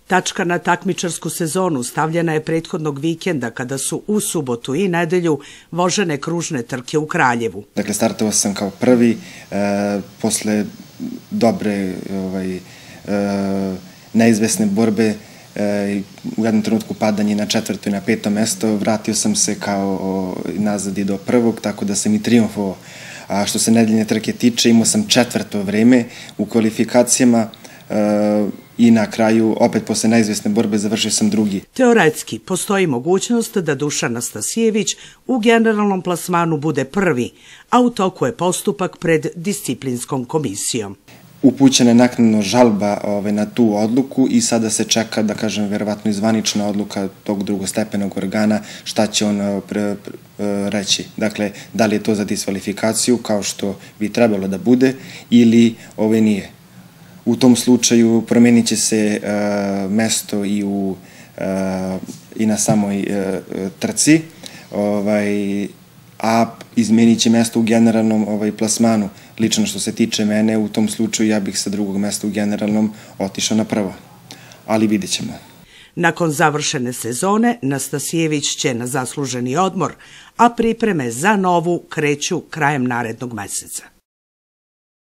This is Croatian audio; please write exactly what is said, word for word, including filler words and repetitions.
Tačka na takmičarsku sezonu stavljena je prethodnog vikenda kada su u subotu i nedelju vožene kružne trke u Kraljevu. Dakle, startovao sam kao prvi, e, posle dobre ovaj, e, neizvesne borbe, e, u jednom trenutku padanje na četvrto i na peto mesto, vratio sam se kao o, nazad i do prvog, tako da sam i triumfovao. A što se nedeljne trke tiče, imao sam četvrto vreme u kvalifikacijama, e, i na kraju, opet posle neizvesne borbe, završio sam drugi. Teoretski, postoji mogućnost da Dušan Nastasijević u generalnom plasmanu bude prvi, a u toku je postupak pred disciplinskom komisijom. Upućena je naknadno žalba ovaj, na tu odluku i sada se čeka, da kažem, verovatno i zvanična odluka tog drugostepenog organa, šta će on pre, pre, reći. Dakle, da li je to za diskvalifikaciju, kao što bi trebalo da bude, ili ovaj, nije. U tom slučaju promenit će se uh, mesto i, u, uh, i na samoj uh, trci, ovaj, a izmenit će mesto u generalnom ovaj, plasmanu. Lično što se tiče mene, u tom slučaju ja bih sa drugog mesta u generalnom otišao na prvo. Ali vidjet ćemo. Nakon završene sezone, Nastasijević će na zasluženi odmor, a pripreme za novu kreću krajem narednog meseca.